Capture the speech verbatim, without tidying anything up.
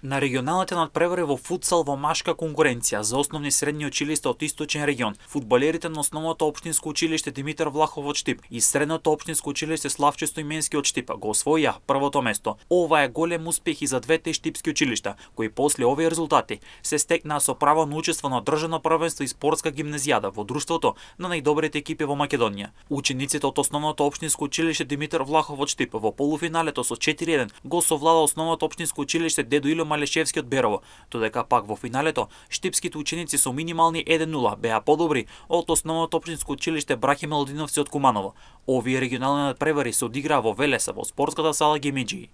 На регионалните надпревари во футсал во машка конкуренција за основни средни училишта од источен регион, фудбалерите на основното општинско училиште Димитар Влахов од Штип и средното општинско училиште Славче Стоименски од Штип го освоија првото место. Ова е голем успех и за двете штипски училишта, кои после овие резултати се стекнаа со право на учество на државно првенство и спортска гимназијада во друштвото на најдобрите екипи во Македонија. Учениците од основното општинско училиште Димитар Влахов од Штип во полуфиналето со четири еден го совлада основното општинско училиште Дедо Ило Малешевски од Берово, додека пак во финалето штипските ученици со минимални еден нула беа подобри од основното општинско училиште Браќа Милодиновци од Куманово. Овие регионални надпревари се одиграа во Велеса во спортската сала Гемеџии.